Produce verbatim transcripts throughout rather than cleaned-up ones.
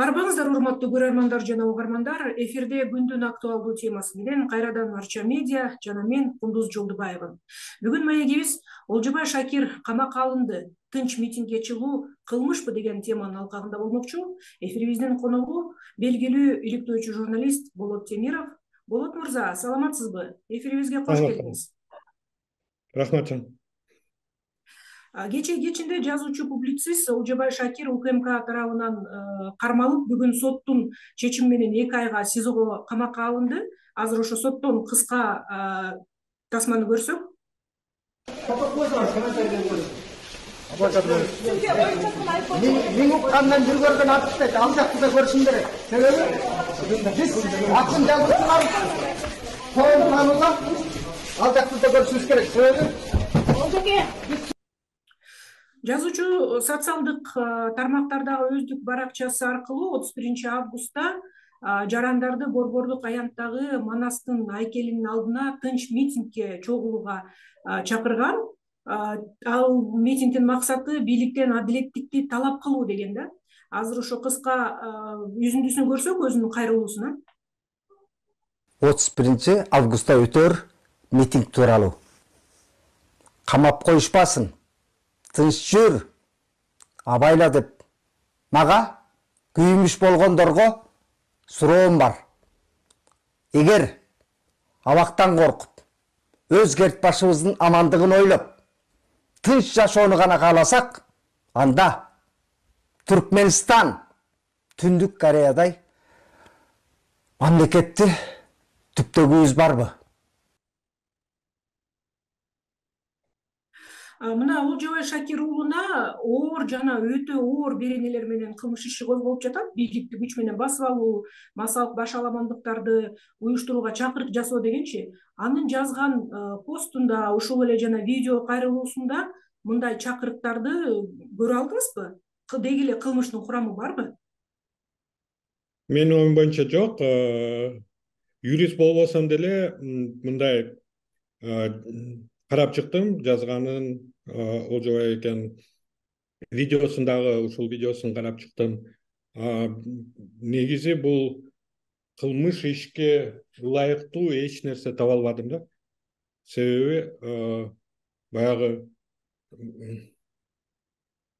Арбаңыздар, урматтуу көрөрмандар жана угармандар, эфирде күндүн актуалдуу темасы менен кайрадан Арча медиа жана мен Кундуз Жолдубаева. Бүгүн маегибиз Олжобай Шакир камакка алынды, тынч митингге чыгуу кылмышпы деген теманын алкагында болмокчу. Эфирибиздин коногу белгилүү иликтөөчү журналист Болот Темиров. Болот мырза, саламатсызбы? Эфирибизге кош келдиңиз. Рахмат. Кечээ кечинде жазуучу публицист Олжобай Шакир УКМК тарабынан кармалып, бүгүн соттун чечими менен эки айга СИЗОго камакка алынды. Азыр ошо соттон кыска тасманы көрсөк. Мен уккандан бир көргөн атышпайт, ал жакты да көрүшүм керек. Себеби биз атын жазуучулар тоон таанууга ал жакты да көрүшүбүз керек. Себеби жазуучу социалдык тармактардагы өздүк баракчасы аркылуу отуз биринчи августта жарандарды Борбордук аянттагы Манастын айкелинин алдына тынч митингге чогулууга чакырган. Ал митингдин максаты бийликтен адилеттикти талап кылуу деген да. Азыр ошо кыска үзүндүсүн көрсөк өзүнүн кайрылуусуна. отуз биринчи августта өтөр митинг тууралуу. Камап коюшпасын. Тынч жүр, абайла деп. Мага күйүмүш болгондорго суроом бар. Эгер абактан коркуп, өз керт башыбыздын амандыгын ойлоп, тынч жашоону гана кааласак, анда Түркмөнстан Түндүк Кореядай мамлекетти түптөгүбүз барбы? Мына Олжобай Шакир уулуна оор жана өтө оор беренелер менен кылмыш иши козголуп жатат. Бийликти күч менен басып алуу, массалык башаламандыктарды уюштурууга чакырык жасоо дегенчи. Анын жазган постунда, ошол эле жана видео кайрылуусунда мындай чакырыктарды көрө алдыңызбы? Деги эле кылмыштын курамы барбы? Менин оюм боюнча жок. Юрист болбосом деле мындай карап чыктым, жазганын Олжобай экен видеосундагы ушул видеосун карап чыктым. Негизи бул кылмыш ишке ылайыктуу эч нерсе таба албадым да. Себеби баягы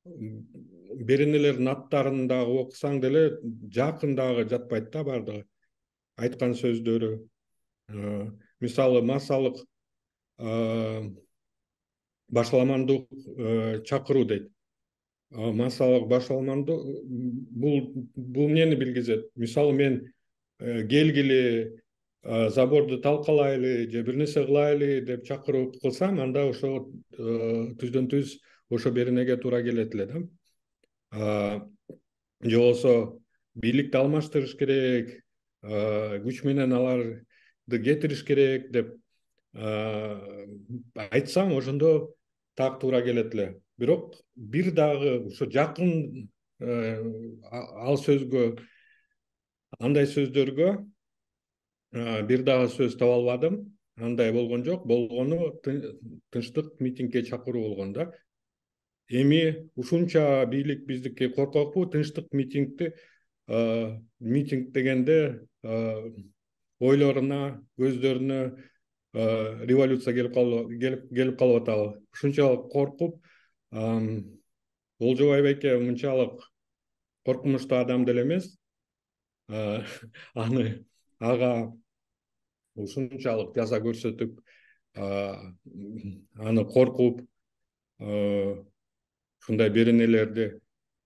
беренелердин аттарын дагы окусаң деле жакын дагы жатпайт да бардыгы. Айткан сөздөрү, мисалы массалык башаламандык чакыруу дейт. Массалык башаламандык бул бул эмнени билгизет? Мисалы мен келгиле, заборду талкалайлы же бир нерсе кылайлы деп чакыруу кылсам, анда ошо түздөн түз ошо беренеге туура келет эле да. Же болбосо бийликти алмаштырыш керек, күч менен аларды кетириш керек деп айтсам, ошондо так туура келет эле. Бирок бир дагы ошо жакын ал сөзгө, андай сөздөргө бир дагы сөз таба албадым. Андай болгон жок. Болгону тынчтык митингге чакыруу болгон да. Эми ушунча бийлик биздикке коркокпу? Тынчтык митингди митинг дегенде ойлоруна, көздөрүнө революция келип келип калып атабы. Ушунчалык коркуп, Олжобай байке мынчалык коркунучтуу адам деле эмес. Аны ага ушунчалык жаза көрсөтүп, аны коркуп, ушундай беренелерди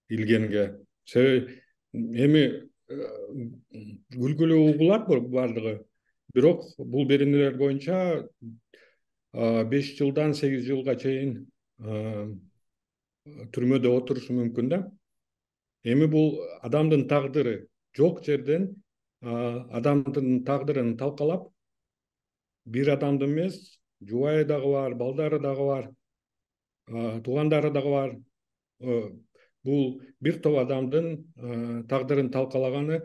илгенге. Себеби эми күлгүлүү угулат бардыгы. Бирок бул беренелер боюнча беш жылдан сегиз жылга чейин түрмөдө отурушу мүмкүн да. Эми бул адамдын тагдыры. Жок жерден адамдын тагдырын талкалап, бир адамды эмес, жубайы дагы бар, балдары дагы бар, туугандары дагы бар. Бул бир топ адамдын тагдырын талкалаганы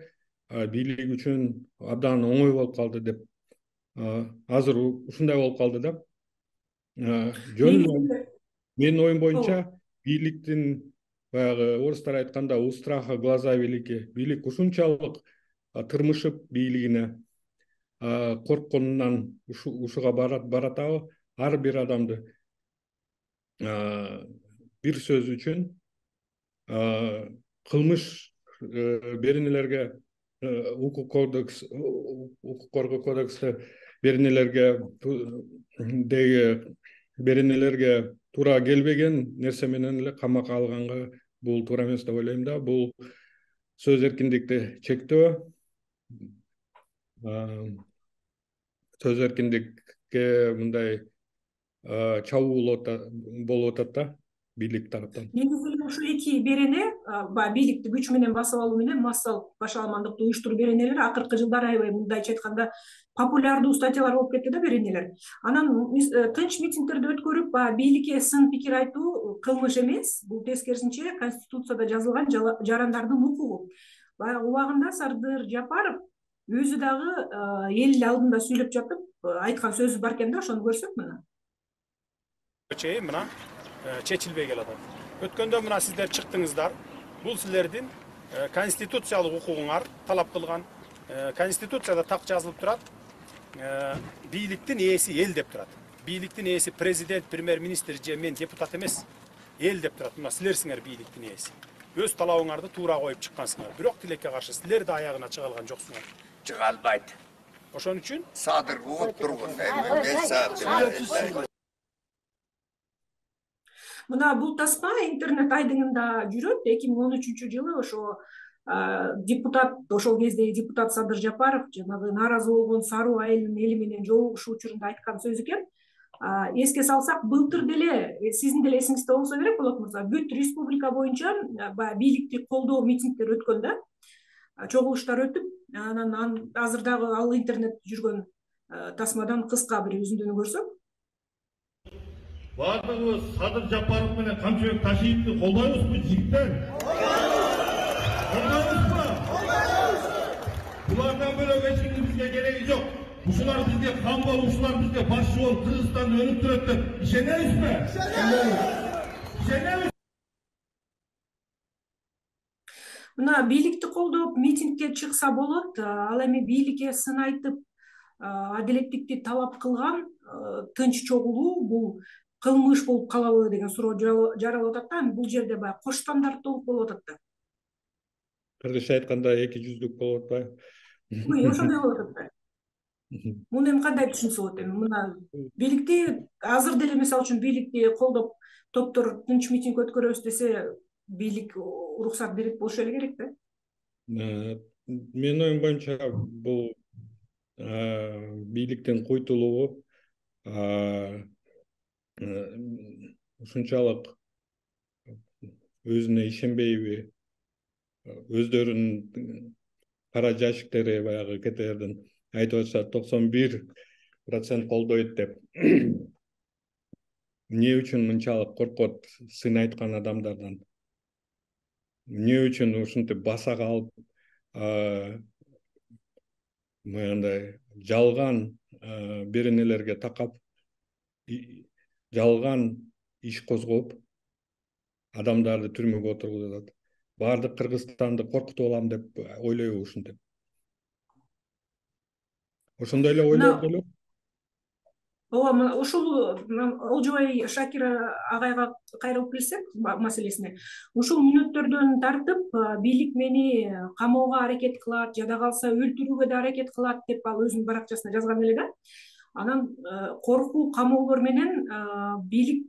бийлик үчүн абдан оңой болуп калды деп. Азыр ушундай болуп калды да. Жөн менин оюм боюнча бийликтин баягы орустар айтканда у страха глаза велики. Бийлик ушунчалык тырмышып бийлигине коркконунан ушуга баратабы. Ар бир адамды бир сөз үчүн кылмыш беренелерге, укук кодекс, укук коргоо кодексте беренелерге деги беренелерге туура келбеген нерсе менен эле камакка алганга бул туура эмес деп ойлойм да. Бул сөз эркиндикти чектөө, сөз эркиндикке мындай чабуул болуп атат да бийлик тараптан. Негизи ушу эки берене, баягы бийликти күч менен басып алуу менен массалык башаламандыкты уюштуруу беренелер акыркы жылдары аябай мындайча айтканда популярдуу статьялар болуп кетти да беренелер. Анан тынч митингдерди өткөрүп, баягы бийликке сын пикир айтуу кылмыш эмес, бул тескерисинче Конституцияда жазылган жарандардын укугу. Баягы убагында Сардыр Жапаров өзү дагы эл алдында сүйлөп жатып айткан сөзү бар экен да, ошону көрсөк мына. Чейин мына чечилбей келатат. Өткөндө мына сиздер чыктыңыздар. Бул силердин конституциялык укугуңар талап кылган. Конституцияда так жазылып турат. Бийликтин ээси эл деп турат. Бийликтин ээси президент, премьер-министр же мен депутат эмес. Эл деп турат. Мына силерсиңер бийликтин ээси. Өз талабыңарды туура коюп чыккансыңар. Бирок тилекке каршы силер да аягына чыга алган жоксуңар. Чыга албайт. Ошон үчүн Садыр уут тургун. беш саат. Мына бул тасма интернет айдыңында жүрөт. эки миң он үчүнчү жылы ошо депутат, ошол кезде депутат Садыр Жапаров жанагы нааразы болгон Саруу айылынын эли менен жолугушуу учурунда айткан сөз экен. Эске салсак, былтыр деле, сиздин деле эсиңизде болсо керек, Болот мырза, бүт республика боюнча баягы бийликти колдоо митингдер өткөн да, чогулуштар өтүп, анан азыр дагы ал интернет жүргөн тасмадан кыска бир үзүндүнү көрсөк. Бардыгыбыз Садыр Жапаров менен Камчыбек Ташиевди колдойбузбу, жигиттер? Колдойбузбу? Булардан бөлөк эч кимдин бизге кереги жок. Ушулар бизге хан болуп, ушулар бизге башчы болуп, Кыргызстанда өнүп турат деп ишенебизби? Ишенебиз. Мына бийликти колдоп митингге чыкса болот, ал эми бийликке сын айтып, адилеттикти талап кылган тынч чогулуу бул кылмыш болуп калабы деген суроо жаралып атат да. Бул жерде баягы кош стандарттуулук болуп атат да. Кыргызча айтканда эки жүздүк болуп атпайбы? Ой, ошондой болуп атат да. Муну эми кандай түшүнсө болот эми? Мына бийликти азыр деле мисалы үчүн бийликти колдоп топтор тынч митинг өткөрөбүз десе, бийлик уруксат берет болушу эле керек да. Менин оюм боюнча бул бийликтин куйтулугу ушунчалык өзүнө ишенбейби, өздөрүнүн кара жашиктери баягы кетердин айтып атса токсон бир процент колдойт деп. Эмне үчүн мынчалык коркот сын айткан адамдардан? Эмне үчүн ушинтип баса калып мындай жалган беренелерге такап, жалган иш козгоп, адамдарды түрмөгө отургузуп атат? Баардык Кыргызстанды коркутуп алам деп ойлойбу ушинтип? Ошондой эле ойлойт беле? Ооба, ушул Олжобай Шакир агайга кайрылып келсек маселесине. Ушул мүнөттөрдөн тартып бийлик мени камоого аракет кылат, жада калса өлтүрүүгө да аракет кылат деп ал өзүнүн баракчасына жазган эле да. Анан коркуу, камоолор менен бийлик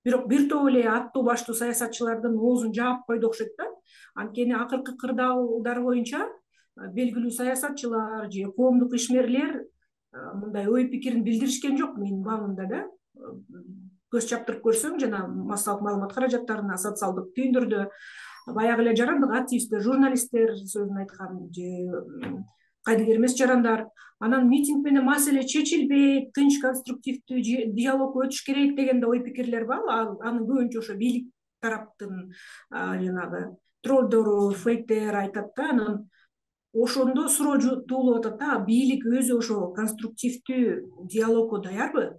бирок бир топ эле аттуу баштуу саясатчылардын оозун жаап койду окшойт да. Анткени акыркы кырдаалдар боюнча белгилүү саясатчылар же коомдук ишмерлер мындай ой пикирин билдиришкен жок менин баамымда да. Көз чаптырып көрсөң, жана массалык маалымат каражаттарына, социалдык түйүндөрдө баягы эле жарандык активисттер, журналисттер сөзүн айткан же кайдыгер эмес жарандар. Анан митинг менен маселе чечилбейт, тынч конструктивдүү диалог өтүш керек деген да ой пикирлер бар. Анын көбүнчө ошо бийлик тараптын жанагы троллдору, фейктер айтат да. Анан ошондо суроо туулуп атат да, бийлик өзү ошо конструктивдүү диалогго даярбы?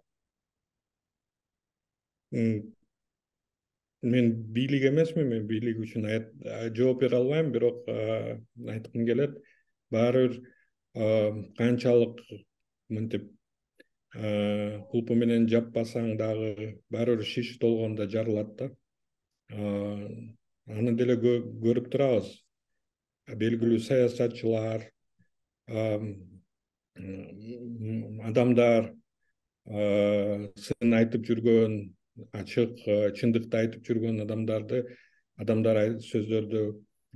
мен бийлик эмесмин, мен бийлик үчүн жооп бере албайм, бирок айткым келет, баары бир канчалык мынтип кулпу менен жаппасаң дагы баары бир шиш толгондо жарылат да. Аны деле көрүп турабыз. Белгилүү саясатчылар, адамдар сын айтып жүргөн, ачык чындыкты айтып жүргөн адамдарды адамдар сөздөрдү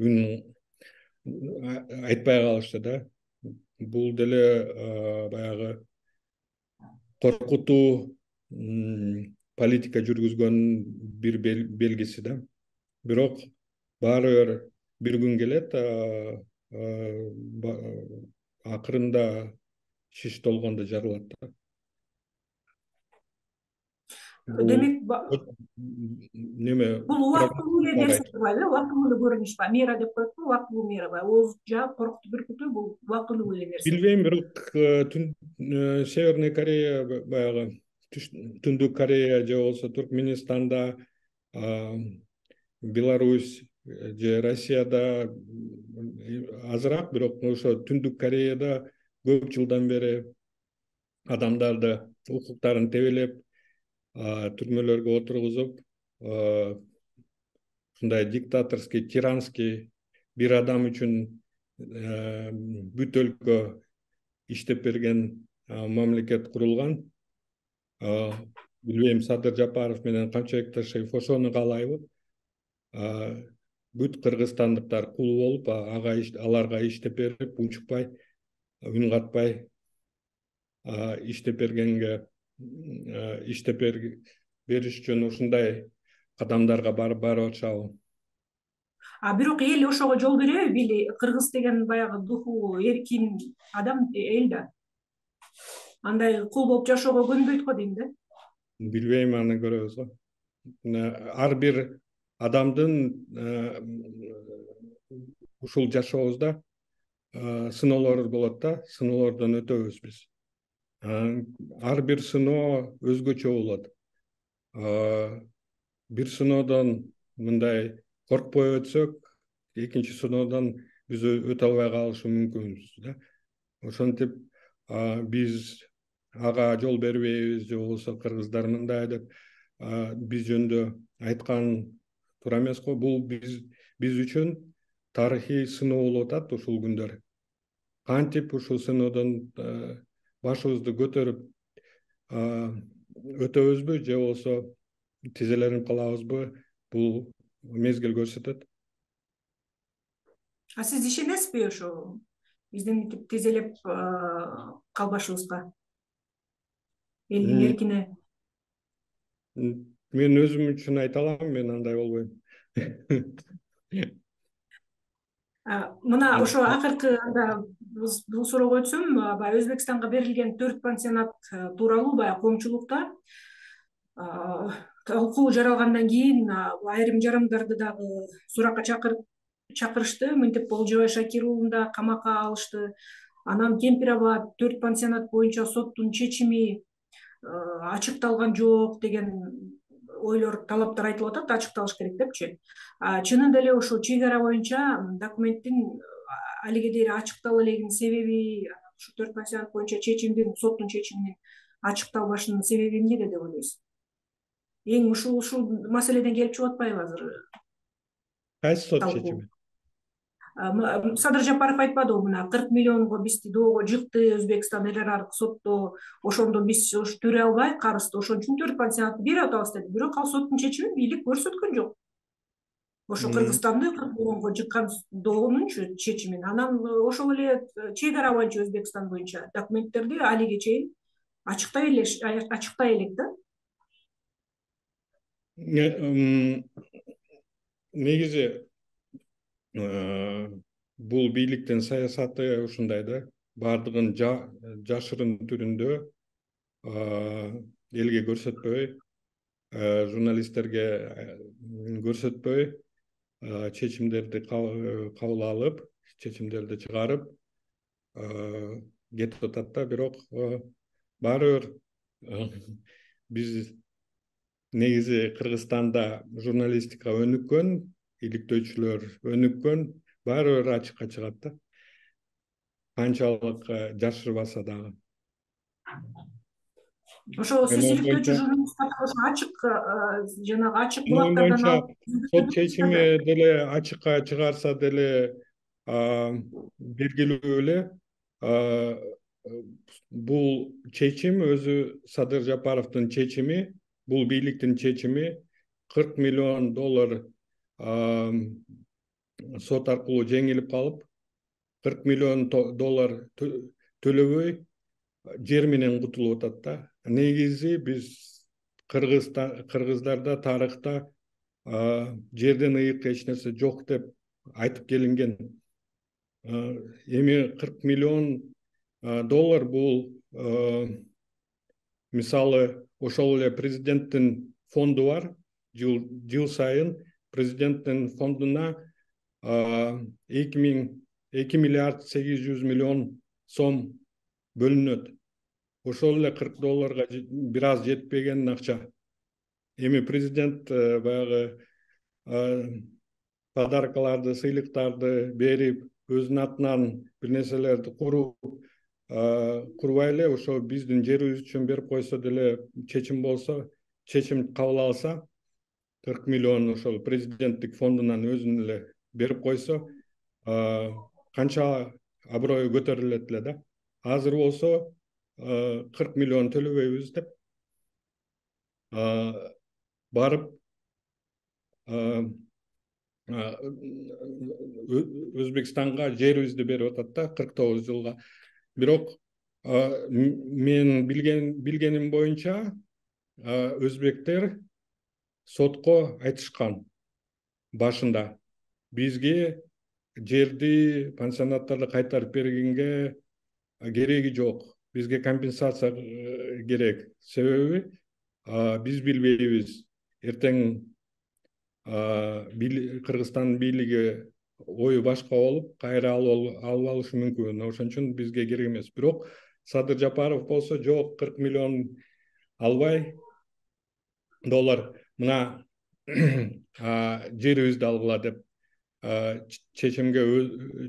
үн айтпай калышты да. Бул деле баягы коркутуу политика жүргүзгөн бир белгиси да. Бирок баары бир күн келет, акырында шиш толгондо жарылат да. Демек, неме бул убактылуу эле нерсе турбайбы? Убактылуу эле көрүнүш ба? Мера деп коет го, убактылуу мера ба? Ооз жаап коркутуп бүркүтүү бул убактылуу эле нерсе. Билбейм, бирок Северный Корея, баягы Түндүк Корея же болбосо Туркменистанда, Беларусь же Россияда азыраак, бирок ошо Түндүк Кореяда көп жылдан бери адамдарды укуктарын тебелеп, түрмөлөргө отургузуп, ушундай диктаторский, тиранский бир адам үчүн бүт өлкө иштеп берген мамлекет курулган. Билбейм, Садыр Жапаров менен Камчыбек Ташиев ошону каалайбы? Бүт кыргызстандыктар кул болуп, ага аларга иштеп берип, унчукпай, үн катпай иштеп бергенге иштеп бериш үчүн ушундай кадамдарга барып атышабы? А бирок эл ошого жол береби? Били, кыргыз деген баягы духу эркин адам, эл да. Андай кул болуп жашоого көнбөйт го дейм да. Билбейм, аны көрөбүз го. Ар бир адамдын ушул жашообузда сыноолор болот да, сыноолордон өтөбүз биз. Ар бир сыноо өзгөчө болот. Бир сыноодон мындай коркпой өтсөк, экинчи сыноодон биз өтө албай калышы мүмкүнбүз да. Ошентип биз ага жол бербейбиз, же болбосо кыргыздар мындай деп биз жөнүндө айткан туура эмес го. Бул биз биз үчүн тарыхый сыноо болуп атат ушул күндөр. Кантип ушул сыноодон башыбызды көтөрүп өтөбүзбү, же болбосо тизеленип калабызбы, бул мезгил көрсөтөт. А сиз ишенесизби ошо биздин мынтип тизелеп калбашыбызга? Элдин эркине. Мен өзүм үчүн айта алам, мен андай болбойм. Мына ошо акыркы анда бул суроого өтсөм, баягы Өзбекстанга берилген төрт пансионат тууралуу баягы коомчулукта талкуу жаралгандан кийин айрым жарандарды дагы суракка чакырышты. Мынтип Олжобай Шакир уулун да камакка алышты. Анан Кемпир Абад төрт пансионат боюнча соттун чечими ачыкталган жок деген ойлор, талаптар айтылып атат, ачыкталыш керек депчи. Чынында эле ошо чек ара боюнча документтин алиге дейин ачыктала элегинин себеби, ушу төрт пансионат боюнча чечимдин, соттун чечиминин ачыкталбашынын себеби эмнеде деп ойлойсуз? Эң ушул ушул маселеден келип чыгып атпайбы азыр? Кайсы сот чечими? Садыр Жапаров айтпадыбы, мына кырк миллионго бизди доого жыкты Өзбекстан эл аралык сотто, ошондо биз төлөй албай карызды, ошон үчүн төрт пансионатты берип атабыз деди. Бирок ал соттун чечимин бийлик көрсөткөн жок. Ошо Кыргызстанды кырк миллионго жыккан доонунчу чечимин. Анан ошол эле чек ара боюнча Өзбекстан боюнча документтерди алиге чейин ачыктай эле ачыктай элек да. Негизи бул бийликтин саясаты ушундай да, бардыгын жашырын түрүндө элге көрсөтпөй, журналисттерге көрсөтпөй чечимдерди кабыл алып, чечимдерди чыгарып кетип атат да. Бирок баары бир биз негизи Кыргызстанда журналистика өнүккөн, иликтөөчүлөр өнүккөн, баары бир ачыкка чыгат да. Канчалык жашырбаса дагы. Ошо сиз иликтөөчү журналисттер ошо ачык жанагы ачык булактардан сот чечими деле ачыкка чыгарса деле белгилүү эле бул чечим өзү Садыр Жапаровдун чечими, бул бийликтин чечими кырк миллион доллар сот аркылуу жеңилип калып, кырк миллион доллар төлөбөй жер менен кутулуп атат да. Негизи биз кыргыздарда тарыхта жерден ыйык эч нерсе жок деп айтып келинген. Эми кырк миллион доллар бул мисалы ошол эле президенттин фонду бар. Жыл сайын президенттин фондуна эки миллиард сегиз жүз миллион сом бөлүнөт. Ошол эле кырк долларга бир аз жетпеген акча. Эми президент баягы подаркаларды, сыйлыктарды берип, өзүнүн атынан бир нерселерди куруп, курбай эле ошо биздин жерибиз үчүн берип койсо деле, чечим болсо, чечим кабыл алса, кырк миллион ошол президенттик фондунан өзүнүн эле берип койсо, канча аброю көтөрүлөт эле да. Азыр болсо кырк миллион төлөбөйбүз деп барып Өзбекстанга жерибизди берип атат да, кырк тогуз жылга. Бирок мен билген билгеним боюнча өзбектер сотко айтышкан башында. Бизге жерди, пансионаттарды кайтарып бергенге кереги жок. Бизге компенсация керек. Себеби биз билбейбиз. Эртең Кыргызстан бийлиги ою башка болуп, кайра алып алышы мүмкүн. Ошон үчүн бизге керек эмес. Бирок Садыр Жапаров болсо, жок, кырк миллион албай, доллар мына жерибизди алгыла деп чечимге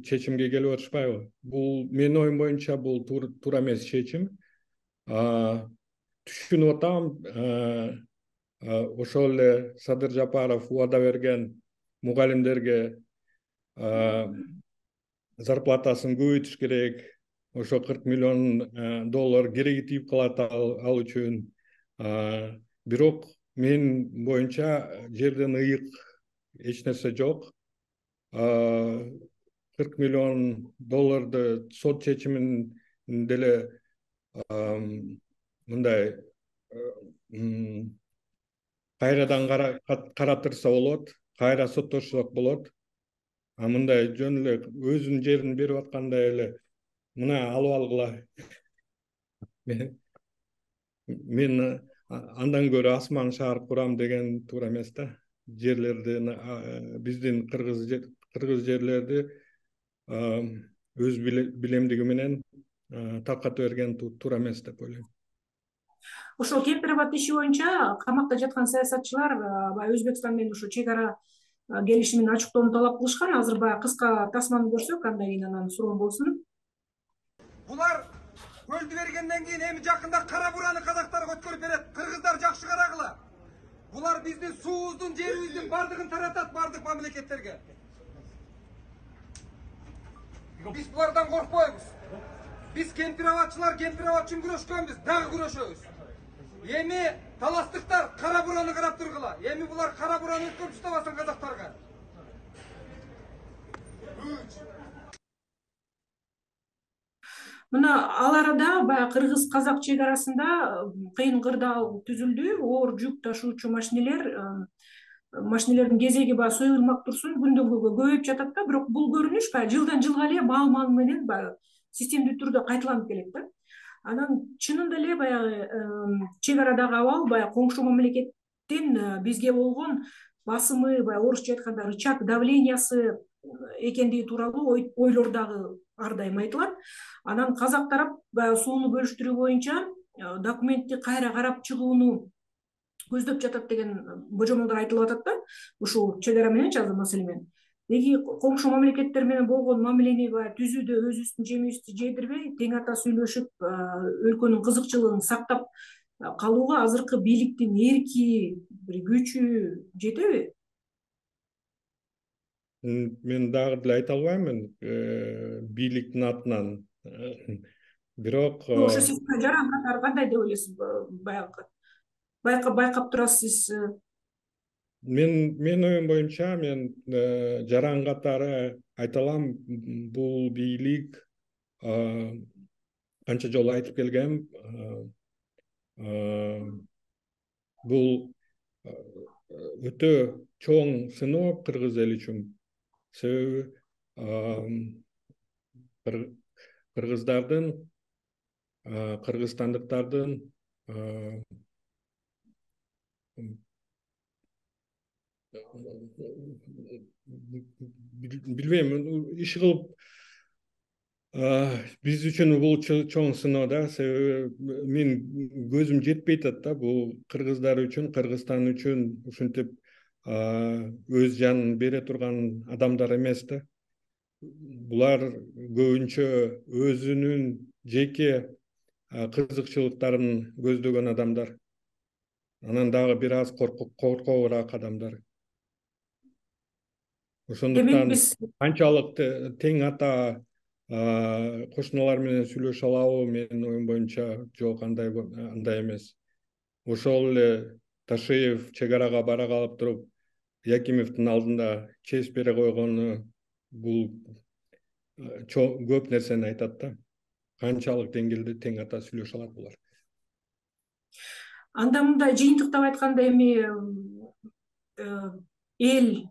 чечимге келип атышпайбы? Бул менин оюм боюнча бул туура эмес чечим. Түшүнүп атам, ошол эле Садыр Жапаров убада берген мугалимдерге зарплатасын көбөйтүш керек. Ошо кырк миллион доллар кереги тиип калат ал үчүн. Бирок мен боюнча жерден ыйык эч нерсе жок. кырк миллион долларды сот чечимин деле мындай кайрадан каратырса болот, кайра соттошсок болот. А мындай жөн эле өзүнүн жерин берип аткандай эле мына алып алгыла. Мен андан көрө асман шаар курам деген туура эмес да. Жерлерден биздин кыргыз кыргыз жерлерди өз билемдиги менен таркатып берген туура эмес деп ойлойм. Ошол кемпир абад иши боюнча камакта жаткан саясатчылар баягы Өзбекстан менен ошо чек ара келишимин ачыктоону талап кылышкан. Азыр баягы кыска тасманы көрсөк, андан кийин анан суроо болсун. Булар көлдү бергенден кийин эми жакында кара бураны казактарга өткөрүп берет. Кыргыздар жакшы карагыла. Булар биздин суубуздун, жерибиздин бардыгын таратат бардык мамлекеттерге. Биз булардан коркпойбуз. Биз кемпир абадчылар кемпир абад үчүн күрөшкөнбүз, дагы күрөшөбүз. Эми таластыктар кара бураны карап тургула. Эми булар кара бураны өткөрүп уштабасын казактарга. Мына ал арада баягы кыргыз-казак чек арасында кыйын кырдаал түзүлдү. Оор жүк ташуучу машинелер машинелердин кезеги баягы союлмак турсун күндөн күнгө көбөйүп жатат да. Бирок бул көрүнүш баягы жылдан жылга эле маал-маал менен баягы системдүү түрдө кайталанып келет да. Анан чынында эле баягы чек арадагы абал баягы коңшу мамлекеттин бизге болгон басымы, баягы орусча айтканда рычаг давлениясы экендиги тууралуу ойлор дагы ар дайым айтылат. Анан казак тарап баягы сууну бөлүштүрүү боюнча документти кайра карап чыгууну көздөп жатат деген божомолдор айтылып атат да ушул чек ара мененчи азыр маселе менен. Деги коңшу мамлекеттер менен болгон мамилени баягы түзүүдө өзүбүздүн жемибизди жедирбей, тең ата сүйлөшүп, өлкөнүн кызыкчылыгын сактап калууга азыркы бийликтин эрки, бир күчү жетеби? Мен дагы деле айта албаймын бийликтин атынан. Бирок Ошо сиз жаран катары кандай деп ойлойсуз? Баягы байкап турасыз сиз. Мен мен оюм боюнча мен жаран катары айта алам, бул бийлик канча жолу айтып келгем, бул өтө чоң сыноо кыргыз эли үчүн. Себеби кыргыздардын, кыргызстандыктардын билбейм, иш кылып биз үчүн бул чоң сыноо да. Себеби мен көзүм жетпей атат да, бул кыргыздар үчүн, Кыргызстан үчүн ушинтип өз жанын бере турган адамдар эмес да. Булар көбүнчө өзүнүн жеке кызыкчылыктарын көздөгөн адамдар. Анан дагы бир аз коркобураак адамдар. Ошондуктан канчалык тең ата кошуналар менен сүйлөшө алабы, менин оюм боюнча жок, андай андай эмес. Ошол эле Ташиев чек арага бара калып туруп Якимовдун алдында честь бере койгону бул көп нерсени айтат да. Канчалык деңгээлде тең ата сүйлөшө алат булар. Анда мындай жыйынтыктап айтканда эми эл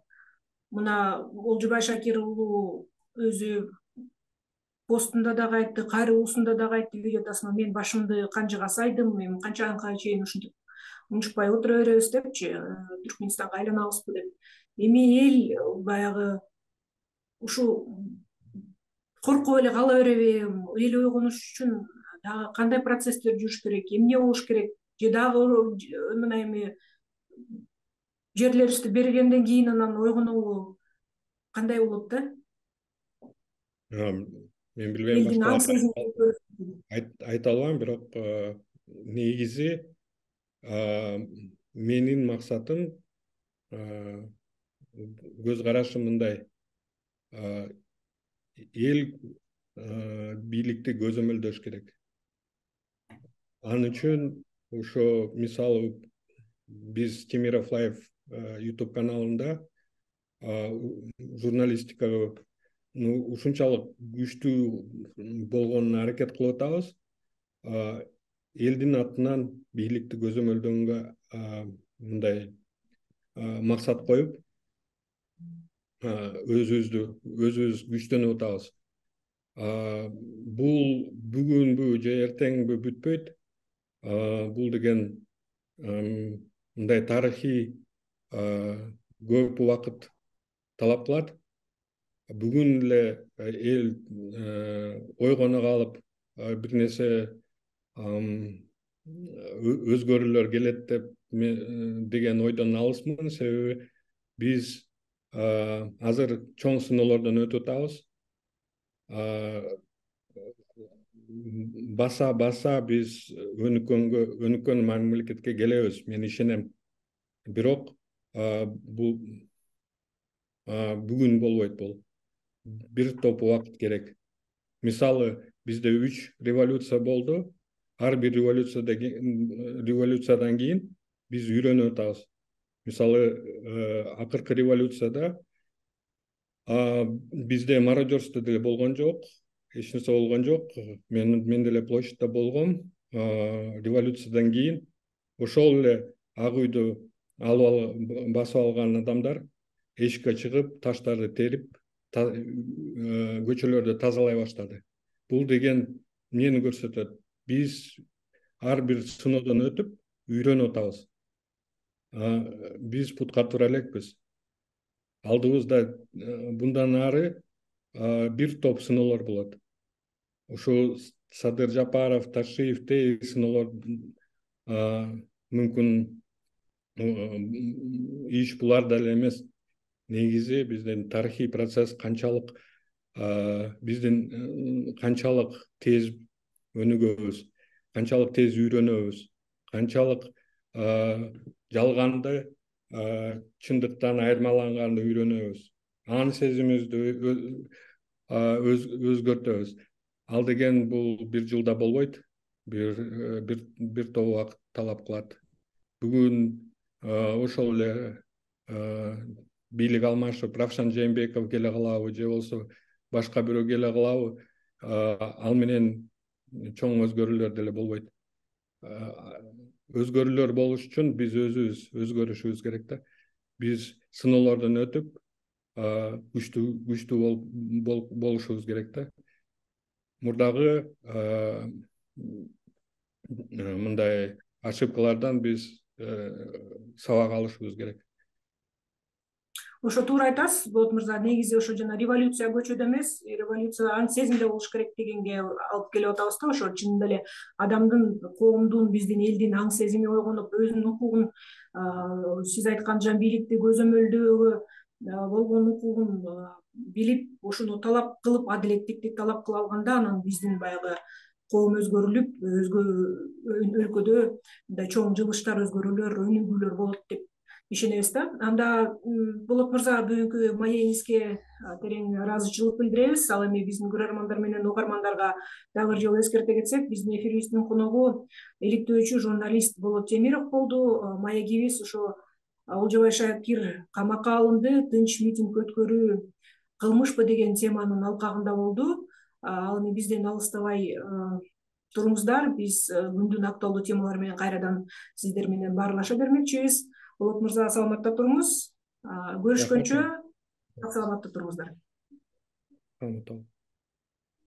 мына Олжобай Шакир уулу өзү постунда дагы айтты, кайрылуусунда дагы айтты видеотасма, мен башымды канжыга сайдым, эми канчанга чейин ушинтип унчукпай отура беребиз депчи, Түркмөнстанга айланабызбы деп. Эми эл баягы ушул коркуп эле кала береби? Эл ойгонуш үчүн дагы кандай процесстер жүрүш керек, эмне болуш керек? Же дагы мына эми жерлерибизди бергенден кийин анан ойгонобу кандай болот да? Мен билбейм, башкалар айта албайм, бирок негизи менин максатым, көз карашым мындай: эл бийликти көзөмөлдөш керек. Ал үчүн ошо мисалы биз Темиров Лайв YouTube каналында журналистикага ушунчалык күчтүү болгонуна аракет кылып атабыз. Элдин атынан бийликти көзөмөлдөгөнгө мындай максат коюп, өзүбүздү өзүбүз күчтөнүп атабыз. Бул бүгүнбү же эртеңби бүтпөйт. Бул деген мындай тарыхый көп убакыт талап кылат. Бүгүн эле эл ойгоно калып бир нерсе өзгөрүүлөр келет деп деген ойдон алысмын. Себеби биз азыр чоң сыноолордон өтүп атабыз. Баса баса биз өнүккөнгө өнүккөн мамлекетке келебиз, мен ишенем. Бирок бул бүгүн болбойт бул. Бир топ убакыт керек. Мисалы, бизде үч революция болду. Ар бир революцияда революциядан кийин биз үйрөнүп атабыз. Мисалы, акыркы революцияда бизде мародерство деле болгон жок, эч нерсе болгон жок. Мен мен деле площадьта болгом. Революциядан кийин ошол эле ак үйдү алып басып алган адамдар эшикке чыгып, таштарды терип, көчөлөрдү тазалай баштады. Бул деген эмнени көрсөтөт? Биз ар бир сыноодон өтүп, үйрөнүп атабыз. Биз путка тура элекпиз. Алдыбызда bundan ары бир топ сыноолор болот. Ошо Садыр Жапаров, Ташиевдей сыноолор мүмкүн иш буларда эле эмес. Негизи биздин тарыхый процесс канчалык биздин канчалык тез өнүгөбүз, канчалык тез үйрөнөбүз, канчалык жалганды чындыктан айырмаланганды үйрөнөбүз. Анын сезимибизди өзгөртөбүз. Ал деген бул бир жылда болбойт, бир бир бир топ убакыт талап кылат. Бүгүн ошол эле бийлик алмашып, Равшан Жээнбеков келе калабы же болбосо башка бирөө келе калабы, ал менен чоң өзгөрүүлөр деле болбойт. Өзгөрүүлөр болуш үчүн биз өзүбүз өзгөрүшүбүз керек да. Биз сыноолордон өтүп, күчтүү күчтүү болушубуз керек да. Мурдагы мындай ошибкалардан биз сабак алышыбыз керек. Ошо туура айтасыз, Болот мырза. Негизи ошо жана революция көчөдө эмес, революция анын сезимде болуш керек дегенге алып келип атабыз да. Ошо чынында эле адамдын, коомдун, биздин элдин аң сезими ойгонуп, өзүнүн укугун, сиз айткан бийликти көзөмөлдөөгө болгон укугун билип, ошону талап кылып, адилеттикти талап кыла алганда, анан биздин баягы коом өзгөрүлүп, өзгө өлкөдө мындай чоң жылыштар, өзгөрүүлөр, өнүгүүлөр болот деп ишенебиз да. Анда Болот мырза, бүгүнкү маегиңизге терең ыраазычылык билдиребиз. Ал эми биздин көрөрмандар менен угармандарга дагы бир жолу эскерте кетсек, биздин эфирибиздин коногу иликтөөчү журналист Болот Темиров болду. Маегибиз ошо Олжобай Шакир камакка алынды, тынч митинг өткөрүү кылмышпы деген теманын алкагында болду. Ал эми бизден алыстабай туруңуздар. Биз күндүн актуалдуу темалары менен кайрадан сиздер менен баарлаша бермекчибиз. Болот мырза, саламатта туруңуз. Көрүшкөнчө саламатта туруңуздар.